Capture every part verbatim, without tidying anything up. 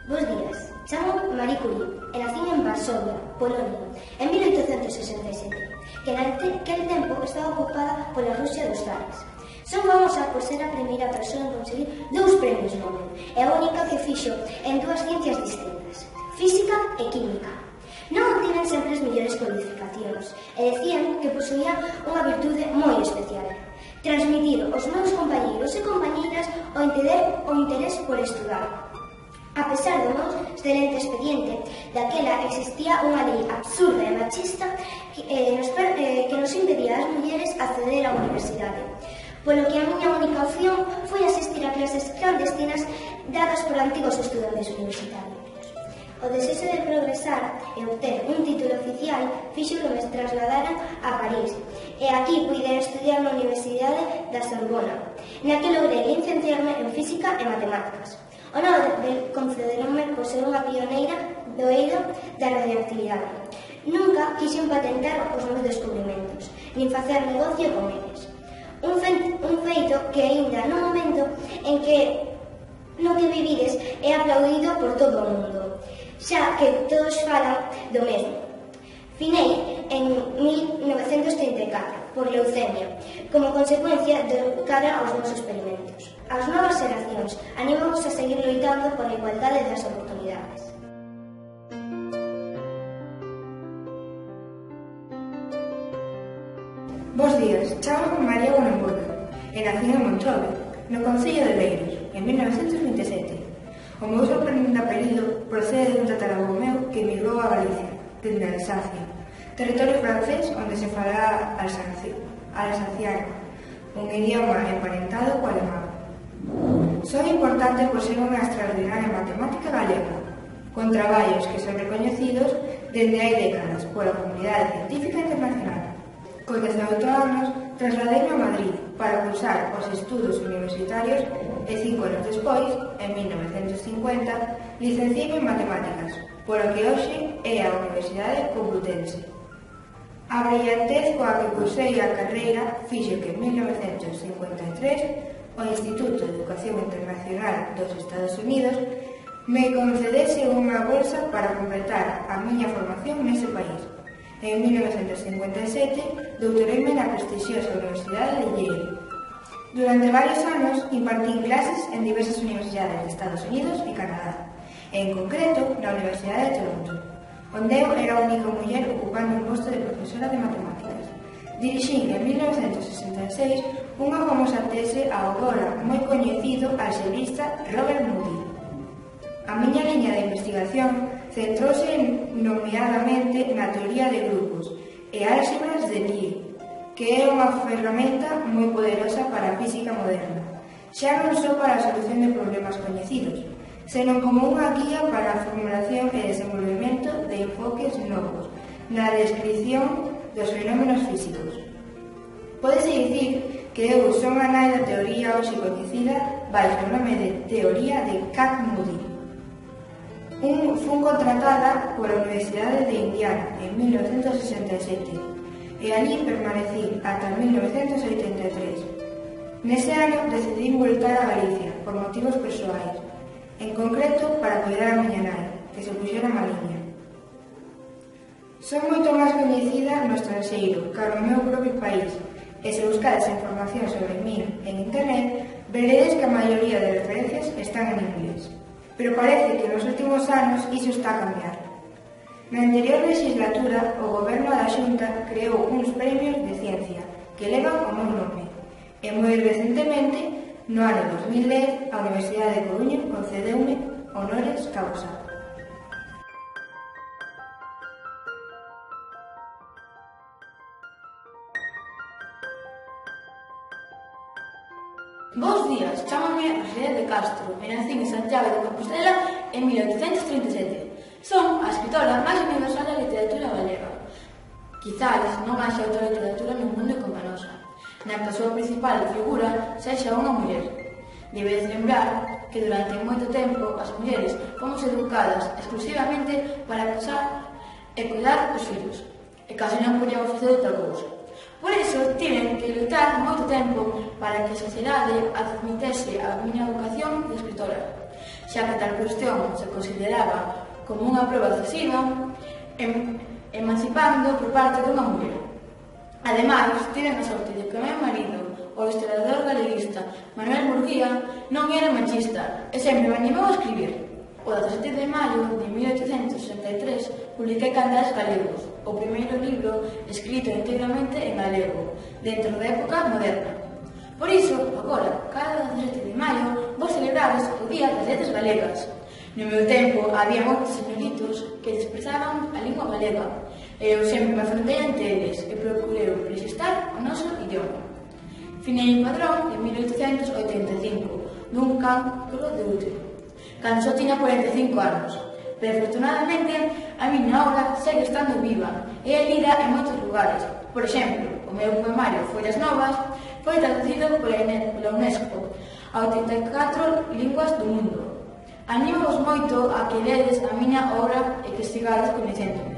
Bos días, chamo Marie Curie e nacín en Varsovia, Polonia, en mil oitocentos sesenta e sete, que naquel tempo estaba ocupada pola Rusia dos zares. Son famosa por ser a primeira persoa en conseguir dous premios Nobel e a única que fixo en dúas ciencias distintas, física e química. Non tiven sempre as mellores cualificacións e decían que posuía unha virtude moi especial: transmitir aos meus compañeiros e compañeiras o interés, o interés por estudar. A pesar do meu excelente expediente, daquela existía unha lei absurda e machista que, eh, nos, eh, que nos impedía ás mulleres acceder á universidade, polo que a miña única opción foi asistir a clases clandestinas dadas por antigos estudantes universitarios. O desexo de progresar e obter un título oficial fixo que me trasladaran a París, e aquí puiden estudiar na Universidade da Sorbona, na que logrei licenciarme en Física e Matemáticas. O Nobel concederonme por ser unha pioneira do eido da radioactividade. Nunca quixen patentar os meus descubrimentos, nin facer negocio con eles. Un, fe, un feito que aínda no momento en que no que vivides é aplaudido por todo o mundo, xa que todos falan do mesmo. Finei en mil novecentos trinta e catro por leucemia, como consecuencia de cara aos meus experimentos. As novas xeracións animamos a seguir loitando pola igualdade das oportunidades. Bos días, chamo María Bonambuena e nací en Monchove, no concello de Leiros, en mil novecentos vinte e sete. O meu sorprendente apelido procede dun tataravó meu que emigrou a Galicia, dende Alsacia, territorio francés onde se fala alsaciano, un idioma emparentado co alemán. Son importante por ser unha extraordinaria matemática galega, con traballos que son recoñecidos dende hai décadas pola comunidade científica internacional. Con dezaoito anos, trasladeime a Madrid para cursar os estudos universitarios e cinco anos despois, en mil novecentos cincuenta, licenciei en Matemáticas, polo que hoxe é a Universidade Complutense. A brillantez coa que cursei a carreira fixo que en mil novecentos cincuenta e tres o Instituto de Educación Internacional dos Estados Unidos me concedese unha bolsa para completar a miña formación nese país. En mil novecentos cincuenta e sete doutoreime na prestixiosa Universidade de Yale. Durante varios anos impartín clases en diversas universidades de Estados Unidos e Canadá, e en concreto na Universidade de Toronto, onde eu era a única muller ocupando un posto de profesora de matemáticas. Dirixín en mil novecentos sesenta e seis unha famosa tese ao agora moi coñecido alxebrista Robert Moody. A miña liña de investigación centrouse nomeadamente na teoría de grupos e álxebras de Lie, que é unha ferramenta moi poderosa para a física moderna, xa non só para a solución de problemas coñecidos, senón como unha guía para a formulación e desenvolvemento de enfoques novos na descripción dos fenómenos físicos. Pódese dicir que eu son a nai da teoría hoxe coñecida baixo o nome de teoría de Kac-Moody. Un, fun contratada pola Universidade de Indiana en mil novecentos sesenta e sete e ali permanecí ata mil novecentos oitenta e tres. Nese ano decidí voltar a Galicia por motivos persoais, en concreto para cuidar a miña nai, que se puxera maliña. Son moito máis coñecida no estranxeiro ca no meu propio país, e se buscades información sobre mí en internet, veredes que a maioría de referencias están en inglés. Pero parece que nos últimos anos iso está a cambiar. Na anterior legislatura, o goberno da Xunta creou uns premios de ciencia que levan o meu nome, e moi recentemente, no ano dos mil dez, a Universidade de Coruña concedeume honores causa. Bos días, chámame Rosé de Castro e nacín en Santiago de Compostela en mil oitocentos trinta e sete. Son a escritora máis universal da literatura galega. Quizás non haxa outra literatura no mundo como a nosa, na que a súa principal figura sexa unha muller. Debedes lembrar que durante moito tempo as mulleres fomos educadas exclusivamente para casar e cuidar dos fillos, e case non podíamos facer outra cousa. Por iso, tiven que lutar moito tempo para que a sociedade admitese a miña vocación de escritora, xa que tal cuestión se consideraba como unha proba decisiva, em, emancipando por parte dunha muller. Ademais, tiven a sorte de que o meu marido, o historiador galeguista Manuel Murguía, non era machista e sempre me animou a escribir. O dezasete de maio de mil oitocentos sesenta e tres publiquei Candaes Galegos, o primeiro libro escrito integramente en galego, dentro da época moderna. Por iso, agora, cada dezasete de maio, vos celebrades o Día das Letras Galegas. No meu tempo, había moitos señoritos que desprezaban a lingua galega, e eu sempre me afrontei ante eles e procurei resistar o noso idioma. Finei en Padrón en mil oitocentos oitenta e cinco, dun cancro de útero, cando só tiña cuarenta e cinco anos, pero afortunadamente a miña obra segue estando viva e é lida en moitos lugares. Por exemplo, o meu poemario Follas Novas foi traducido pola UNESCO a oitenta e catro linguas do mundo. Animo-vos moito a que ledes a miña obra e que sigades coñecéndome.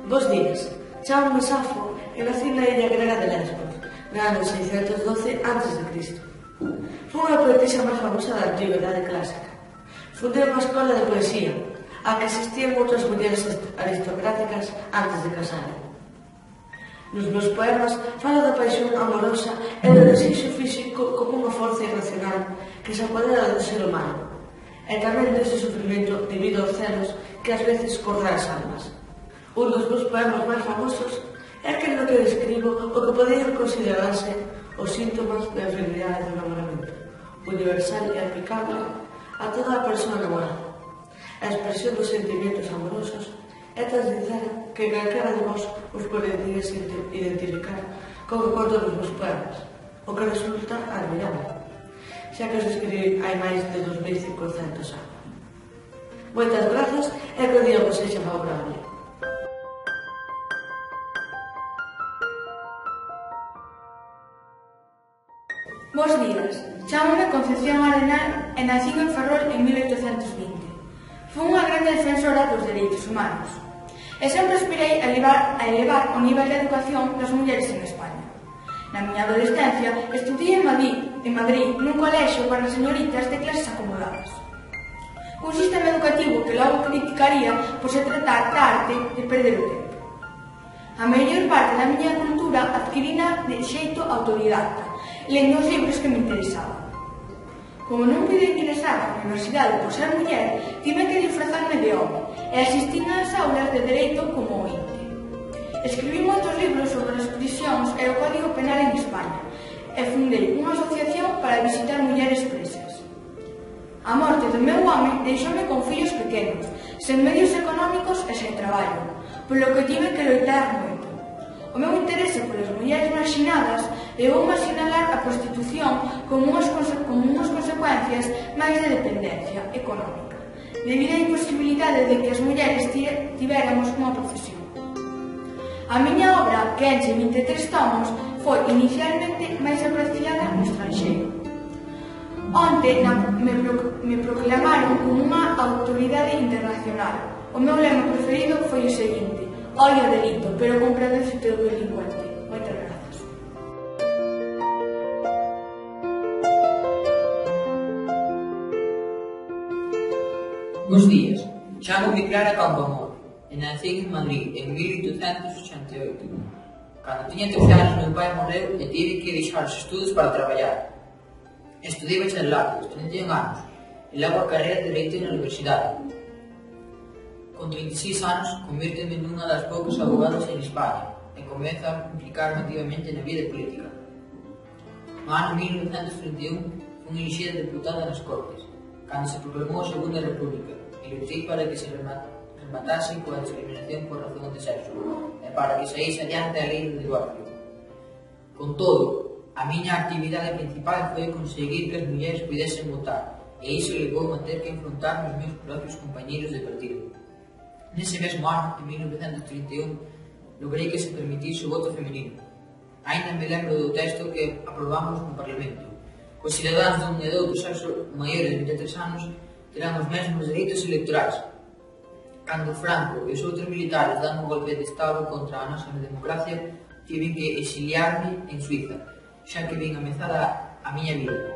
Bos días, chámame Safo e nací na illa grega de Lesbos, no ano seiscentos doce antes de Cristo. Foi unha poetisa máis famosa da antigüedade clásica. Fundei unha escola de poesía, a que asistían outras mulleres aristocráticas antes de casaren. Nos meus poemas falo da paixón amorosa e do desexo físico como unha forza irracional que se apodera do ser humano, e tamén dese sufrimento debido aos celos que ás veces corre as almas. Un dos meus poemas máis famosos é aquel no que describo o que poderían considerarse os síntomas da enfermidade do enamoramento, universal e aplicable a toda a persoa enamorada. A expresión dos sentimentos amorosos é tan sincera que calquera de vós os podería identificar con o conto dos meus poemas, o que resulta admirable, xa que os escribí hai máis de dos mil cincocentos anos. Moitas grazas e que o día vos sexa favorable. Bos días, chámame Concepción Arenal e nacín en Ferrol en mil oitocentos vinte. Fui unha grande defensora dos dereitos humanos e sempre aspirei a elevar, a elevar o nivel de educación das mulleres en España. Na miña adolescencia estudei en Madrid, en Madrid nun colexio para señoritas de clases acomodadas. Un sistema educativo que logo criticaría por se tratar da arte de perder o tempo. A mellor parte da miña cultura adquirina de xeito autodidacta, lendo os libros que me interesaban. Como non pude ingresar á universidade por ser muller, tive que disfrazarme de home e asistín ás aulas de dereito como ointe. Escribí moitos libros sobre as prisións e o Código Penal en España e fundei unha asociación para visitar mulleres presas. A morte do meu home deixoume con fillos pequenos, sen medios económicos e sen traballo, polo que tive que loitar moito. O meu interese polas mulleres marxinadas levoume a sinalar a prostitución como unhas, como unhas consecuencias máis de dependencia económica, debido á imposibilidade de que as mulleres tivéramos unha profesión. A miña obra, que enche vinte e tres tomos, foi inicialmente máis apreciada no estranxeiro. Onte me, pro, me proclamaron como unha autoridade internacional. O meu lema preferido foi o seguinte: ollo delito, pero con predécito do delincuente. Moitas grazas. Bos días, chámome Clara Campoamor e nacín en Madrid en mil oitocentos ochenta e oito. Cando tiña trece anos, meu pai morreu e tive que deixar os estudos para traballar. Estudei bacharelato aos trinta e un anos e logo a carreira de Dereito na universidade. Con trinta e seis anos, convírteme nunha das poucas abogadas en España e comezo a implicarme activamente na vida política. No ano mil novecentos trinta e un, fui elixida deputada nas Cortes, cando se proclamou a Segunda República, e lutei para que se rematase coa discriminación por razón de sexo e para que saíse adiante a lei do divorcio. Con todo, a miña actividade principal foi conseguir que as mulleres pudesen votar, e iso levou a ter que enfrontar os meus propios compañeros de partido. Nese mesmo ano, en mil novecentos trinta e un, logrei que se permitise o voto femenino. Ainda me lembro do texto que aprobamos no Parlamento. Os cidadáns dun e doutro sexo maiores de vinte e tres anos terán os mesmos dereitos electorais. Cando Franco e os outros militares dan un golpe de estado contra a nosa democracia, tive que exiliarme en Suiza, xa que vin amezada a miña vida.